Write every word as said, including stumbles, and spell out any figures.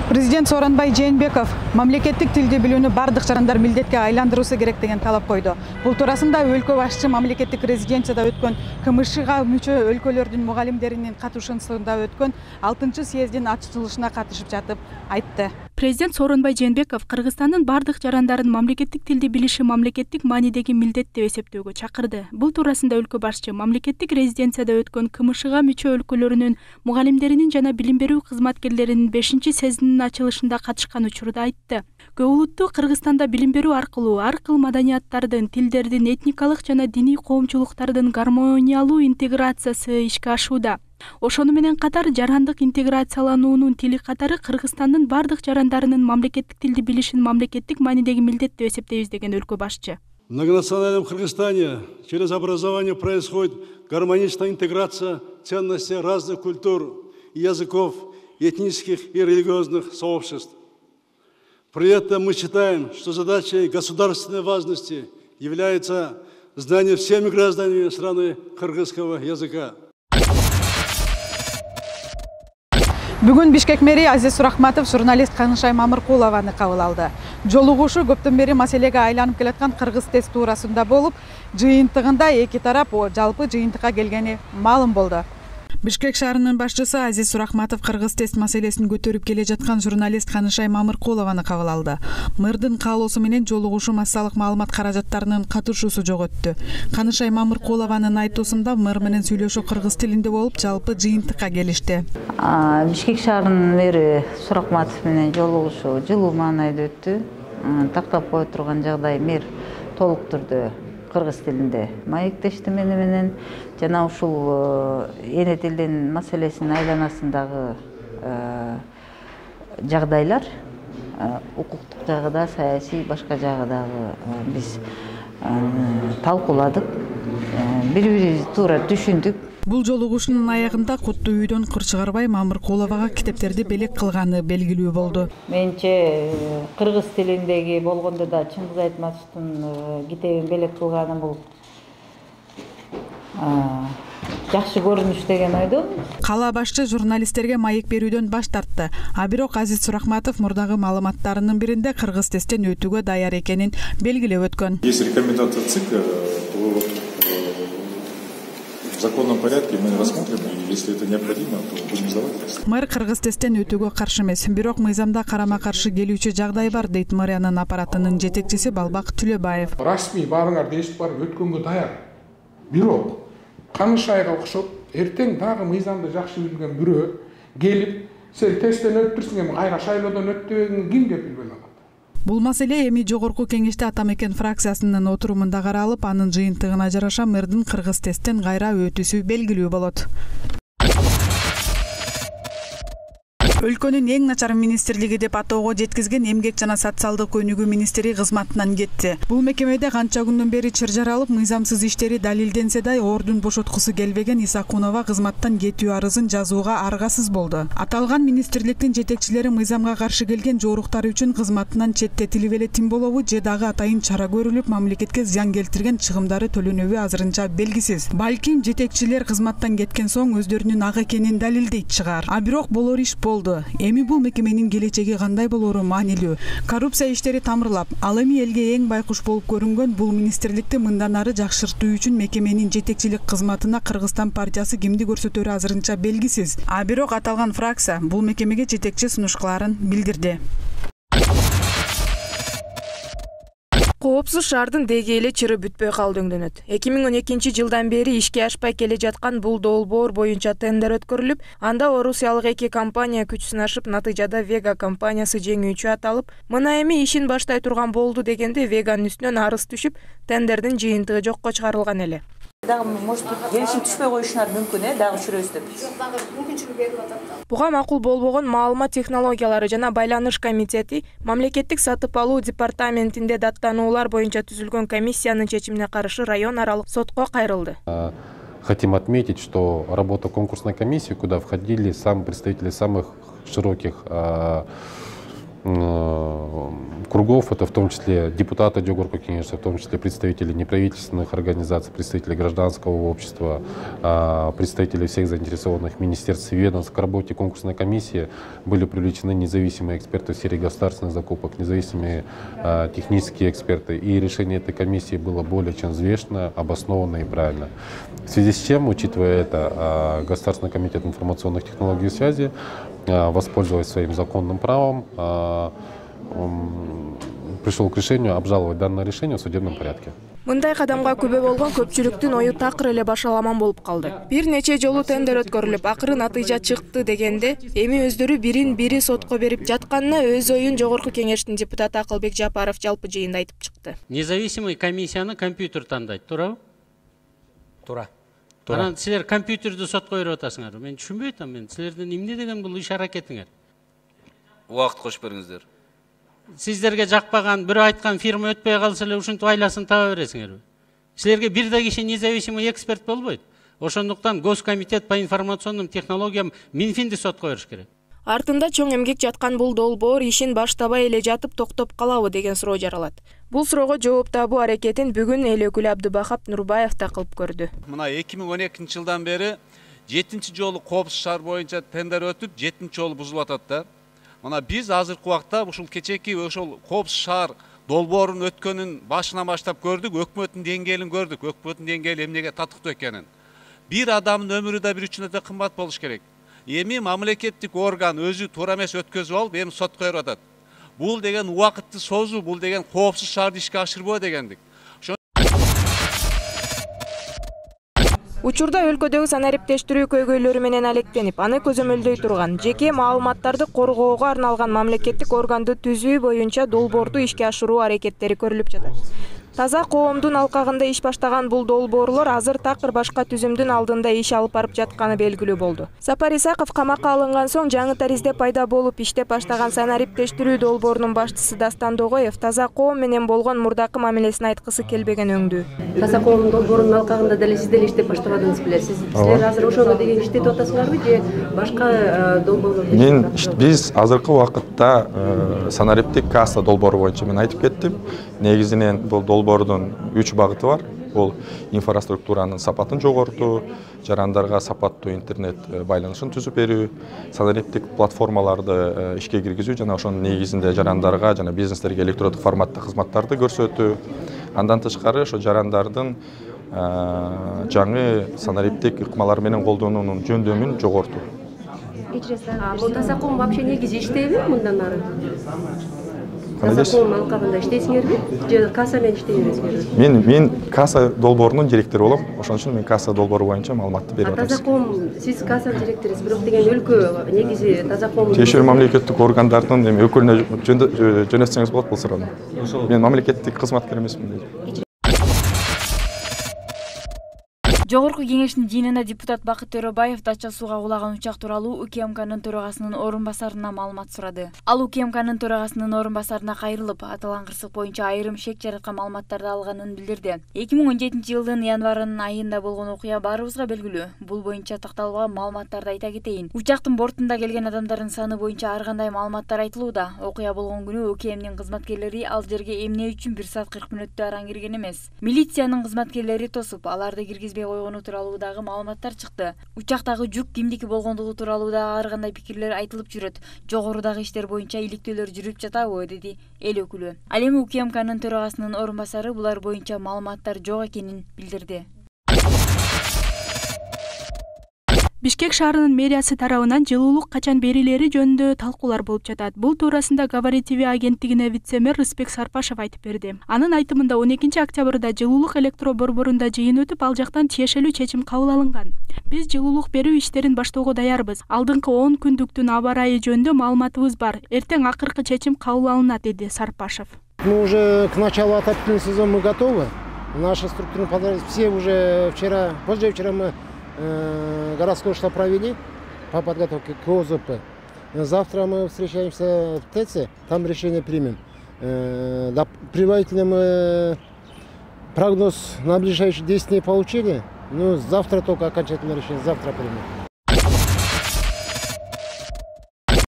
Президент Сооронбай Жээнбеков мамлекеттик тилди билүүнү бардык жарандар милдетке айландыруусу керек деген талап койду. Бул туурасында өлкө башчы мамлекеттик резиденцияда өткөн КМШга мүчө өлкөлөрдүн мугалимдеринин катышуусунда өткөн алтынчы съездин ачылышына катышып жатып айтты. Президент Сооронбай Жээнбеков Кыргызстандын бардык жарандарын мамлекеттик тилди билиши мамлекеттик маанидеги милдет деп эсептөөгө чакырды. Бул туурасында өлкө башчы мамлекеттик резиденцияда өткөн КМШга мүчө өлкөлөрүнүн мугалимдеринин жана билим берүү кызматкерлеринин бешинчи съездинин ачылышында катышкан учурда айтты. Көп улуттуу Кыргызстанда билим берүү аркылуу ар кыл маданияттардын, тилдердин, этникалык жана диний коомчулуктардын гармониялуу интеграциясы ишке ашууда. Ошону менен катар жарандык интеграциялануунун тили катары Кыргызстандын бардык жарандарынын мамлекеттик тилди билишин мамлекеттик маанидеги милдет деп эсептейбиз деген өлкө башчы. В многонациональном Кыргызстане через образование происходит гармоничная интеграция ценностей разных культур, языков, этнических и религиозных сообществ. При этом мы считаем, что задачей государственной важности является знание всеми гражданами страны кыргызского языка. Бүгүн Бишкек мэри Азиз Сурахматов журналист Канышай Мамыркулованы кабыл алды. Жолугушуу көптөн бери маселеге айланып келаткан кыргыз тест туурасында болуп, жыйынтыгында эки тарап жалпы жыйынтыкка келгени маалым болду. Бишкек шаарынын башчысы Азиз Сурахматов кыргыз тест маселесин көтөрүп келе жаткан журналист Канышай Мамыркулованы кабыл алды. Мэрдин каалоосу менен жолугушуу массалык маалымат каражаттарынын катышуусу жок өттү. Канышай Мамыркулованын айтуусунда мэр менен сүйлөшүү кыргыз тилинде болуп, жалпы жыйынтыкка келишти. Бишкек шаарынын мэри Сурахматов менен жолугушуу жылуу маанайда өттү. Тактап кое турган жагдай мэр толук түрдө кыргыз тилинде маектешти мени менен жана ушул эне тилдин маселесинин айланасындагы жагдайлар укуктук жагы да, саясий башка жагы дагы биз талкууладык, бири бири туура түшүндүк. Бул жолугушуунун аягында Куттуу үйдөн кыр чыгарбай Мамыркуловага китептерди белек кылганы белгилүү болду. Менче кыргыз тилиндеги болгондо да Чыңгыз Айтматовдун китебин белек кылганы бул жакшы көрүнүш деген ойдомун. Кала башчы журналисттерге маек берүүдөн баш тартты. А бирок Азиз Сурахматов мурдагы маалыматтарынын биринде кыргыз тесттен өтүүгө даяр экенин белгилеп өткөн. Есть рекомендация ЦИК, то в законном порядке мы рассмотрим, и если это необходимо, то будем сдавать тест. Мэр кыргыз тесттен өтүүгө каршы эмес, бирок мыйзамда карама-каршы келүүчү жагдай бар, дейт мэриянын аппаратынын жетекчиси Балбак Түлөбаев. Расмий баарыңар дешип барып өткөнгө даяр. Бирок Канышайга окшоп, эртең дагы мыйзамды жакшы билген бирөө келип, сен тесттен өттүрсүң, эми кайра шайлоодон өттүбөгүңдү ким деп билбей калат. Бул маселе эми жогорку кеңеште Атамекен фракциясынын отурумунда каралып, анын жыйынтыгына жараша мэрдин кыргыз тесттен кайра өтүүсү белгилүү болот. Өлкөнүн эң начар министрлиги деп атоого жеткизген Эмгек жана социалдык өнүгүү министри кызматынан кетти. Бул мекемеде канча күндөн бери чыр жаралып, мыйзамсыз иштери далилденсе да, ордун бошоткусу келбеген Исакунова кызматтан кетүү арызын жазууга аргасыз болду. Аталган министрликтин жетекчилери мыйзамга каршы келген жоруктары үчүн кызматынан четтетилип эле тим болобу же дагы атайын чара көрүлүп, мамлекетке зыян келтирген чыгымдары төлөнөбү азырынча белгисиз. Балким жетекчилер кызматтан кеткен соң өздөрүнүн ак экенин далилдейт чыгар. А бирок болор иш болду. Эми бул мекеменин келечеги кандай болору маанилүү. Коррупция иштери тамырлап, ал эми элге эң байкуш болуп көрүнгөн бул министрликти мындан ары жакшыртуу үчүн мекеменин жетекчилик кызматына Кыргызстан партиясы кимди көрсөтөрү азырынча белгисиз. А бирок аталган фракция бул мекемеге жетекчи сунушкаларын билдирди. Коопсуз шаардын деги эле чыры бүтпөй калдыңдөнөт. эки миң он экинчи жылдан бери ишке ашпай келе жаткан бул долбоор боюнча тендер өткөрүлүп, анда орусиялык эки компания күч сынашып, натыйжада Вега компаниясы жеңүүчү аталып, мына эми ишин баштай турган болду дегенде Веганын үстүнөн арыз түшүп, тендердин жыйынтыгы жокко чыгарылган эле. Дагы может келишим түшпөй коюшуңар мүмкүн, э, дагы жүрөбүз деп. Жок, дагы мүмкүнчүлүк берип атат. Буга макул болбогон маалымат технологиялары жана байланыш комитети мамлекеттик сатып алуу департаментинде даттануулар боюнча түзүлгөн комиссиянын чечимине каршы район аралык сотко кайрылды. Хотим отметить, что работа конкурсной комиссии, куда входили сам представители самых широких кругов, это в том числе депутаты Жогорку Кеңеши, в том числе представители неправительственных организаций, представители гражданского общества, представители всех заинтересованных министерств и ведомств. К работе конкурсной комиссии были привлечены независимые эксперты в сфере государственных закупок, независимые технические эксперты. И решение этой комиссии было более чем взвешенно, обоснованно и правильно. В связи с чем, учитывая это, Государственный комитет информационных технологий и связи, воспользоваясь своим законным правом, пришел к решению обжаловать данное решение в судебном порядке. Мындай кадамга күбө болгон көпчүлүктүн ою такыр эле башаламан болуп калды. Бир нече жолу тендер өткөрүлүп, акыры натыйжа чыкты дегенде, эми өздөрү бирин бири сотко берип жатканына өз оюн Жогорку Кеңештин депутаты Акылбек Жапаров жалпы жыйында айтып чыкты. Независимый комиссияны компьютер тандайт, туурабы? Туура. Анан силер компьютерди сотко берип атасыңар. Мен түшүнбөй атам, мен силердин эмне деген бул иш аракетиңер? Убакыт кошуп бериңиздер. Сиздерге жакпаган, бирөө айткан фирма өтпөй калса эле ушинтип айласын таба бересиңерби? Силерге бир да киши независимый эксперт болбойт. Ошондуктан Госкомитет по информационным технологиям Минфинди сотко бериш керек. Артында чоң эмгек жаткан бул долбоор ишин баштабай эле жатып токтоп калабы деген суроо жаралат. Бул суроого жооп табуу аракетин бүгүн эл өкүлү Абдыбахап Нурбаев да кылып көрдү. Мына эки миң он экинчи жылдан бери жетинчи жолу Коопсуз шаар боюнча тендер өтүп, жетинчи жолу бузулуп атат да. Мына биз азыркы убакта ушул кечеки ошол Коопсуз шаар долбоорун өткөнүн башынан баштап көрдүк, өкмөттүн деңгээлин көрдүк, өкмөттүн деңгээли эмнеге татыктуу экенин. Бир адамдын өмүрү да бир үчүн өтө кымбат болуш керек. Эми мамлекеттик орган өзү туура эмес өткөзүп алып, эми сотко берип атат. Бул деген убакытты созуу, бул деген коопсуз шаарды ишке ашырбоо дегендик. Учурда өлкөдөгү санариптештирүү көйгөйлөрү менен алектенип, аны көзөмөлдөй турган, жеке маалыматтарды коргоого арналган мамлекеттик органды түзүү боюнча долбоорду ишке ашыруу аракеттери көрүлүп жатат. Таза коомдун алкагында иш баштаган бул долбоорлор азыр такыр башка түзүмдүн алдында иш алып барып жатканы белгилүү болду. Сапар Исаков камакка алынган соң жаңы таризде пайда болуп иштеп баштаган санариптештирүү долбоорунун башчысы Дастан Догоев таза коом менен болгон мурдакы мамилесин айткысы келбеген өңдүү. Таза коом долбоорунун алкагында деле сиз деле иштеп баштабадыңыз беле? Сиз силер азыр ошону деген иштетип атасыңарбы же башка долбоорлорду? Мен биз азыркы убакытта санариптик касса долбоору боюнча мен айтып кеттим. Негизинен бул долбоордун үч багыты бар. Бул инфраструктуранын сапатын жогортуу, жарандарга сапаттуу интернет байланышын түзүп берүү, санариптик платформаларды ишке киргизүү жана ошонун негизинде жарандарга жана бизнестерге электрондук форматта кызматтарды көрсөтүү. Андан тышкары ошо жарандардын жаңы санариптик ыкмалар менен колдонуунун жөндөмүн жогортуу. Бул таза коом вообще негизи иштейби мындан ары? Таза коом алкагында иштейсиңерби же касса менен иштей бересиңерби? Мен мен касса долбоорунун директору болом. Ошон үчүн мен касса долбоору боюнча маалыматты берип атам. Таза коом сиз кассанын директорусуз, бирок деген өлкө негизи таза коом. Тиешелүү мамлекеттик органдардын эми өкүлүнө жөнөтсөңүз болот бул суроону. Мен мамлекеттик кызматкер эмесмин. Жогорку Кеңештин жыйынында депутат Бакыт Төрөбаев Дача сууга кулаган учак тууралуу УКМКнын төрагасынын орун басарына маалымат сурады. Ал УКМКнын төрагасынын орун басарына кайрылып, аталган кырсык боюнча айрым шек жараткан маалыматтарды алганын билдирди. эки миң он жетинчи жылдын январынын айында болгон окуя баарыбызга белгилүү. Бул боюнча такталган маалыматтарды айта кетейин. Учактын бортунда келген адамдардын саны боюнча ар кандай маалыматтар айтылууда. Окуя болгон күнү УКМнин кызматкерлери ал жерге эмне үчүн бир саат кырк мүнөттө араң кирген эмес. Милициянын кызматкерлери тосуп, аларды киргизбей койгону тууралуудагы маалыматтар чыкты. Учактагы жүк кимдики болгондугу тууралуу да ар кандай пикирлер айтылып жүрөт. Жогорудагы иштер боюнча иликтөөлөр жүрүп жатабы, деди эл өкүлү. Ал эми УКМКнын төрагасынын орун басары булар боюнча маалыматтар жок экенин билдирди. Бишкек шаарынын мэриясы тарабынан жылуулук качан берилери жөнүндө талкуулар болуп жатат. Бул туурасында Говори ТВ агенттигине вице-мэр Рыспек Сарпашев айтып берди. Анын айтымында он экинчи октябрда жылуулук электро борборунда жыйын өтүп, ал жактан тиешелүү чечим кабыл алынган. Биз жылуулук берүү иштерин баштоого даярбыз. Алдыңкы он күндүктүн аба ырайы жөнүндө маалыматыбыз бар. Эртең акыркы чечим кабыл алынат, деди Сарпашев. Мы уже к началу отопительного сезона мы готовы. Наши структурные подразделения все уже вчера, позавчера мы городской штаб провели по подготовке к ОЗП. Завтра мы встречаемся в ТЭЦе, там решение примем. Предварительно мы прогноз на ближайшие десять дней получили, но завтра только окончательное решение, завтра примем.